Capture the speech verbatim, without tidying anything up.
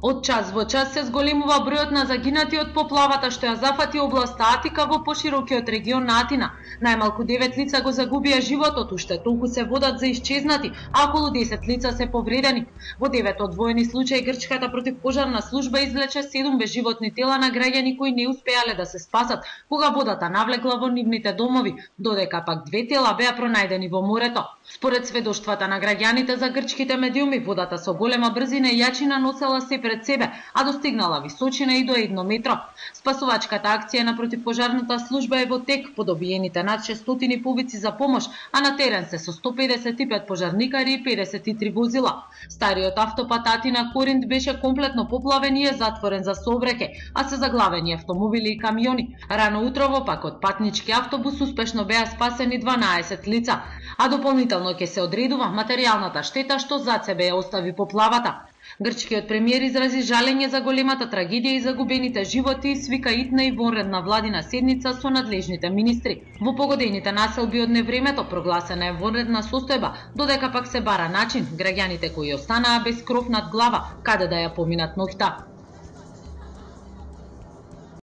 Од час во час се зголемува бројот на загинати од поплавата што ја зафати областа Атика во поширокиот регион на Атина. Најмалку девет лица го загубија животот, уште толку се водат за исчезнати, а околу десет лица се повредени. Во девет одвоени случаи грчката противпожарна служба извлече седум безживотни тела на граѓани кои не успеале да се спасат кога водата навлегла во нивните домови, додека пак две тела беа пронајдени во морето. Според сведоштвата на граѓаните за грчките медиуми, водата со голема брзина и јачина носела се пред себе, а достигнала височина и до едно метро. Спасувачката акција на противпожарната служба е во тек, по добиените над шестстотини повици за помош, а на терен се со сто педесет и пет пожарникари и педесет и три возила. Стариот автопат Атина Коринт беше комплетно поплавен и е затворен за сообраќај, а се заглавени автомобили и камиони. Рано утрово пак од патнички автобус успешно беа спасени дванаесет лица, а дополнително ќе се одредува материјалната штета што зад себе ја остави поплавата. Грчкиот премиер изрази жалење за големата трагедија и загубените животи и свика итна и вонредна владина седница со надлежните министри. Во погодените населби од невремето прогласена е вонредна состојба, додека пак се бара начин граѓаните кои останаа без кров над глава каде да ја поминат ноќта.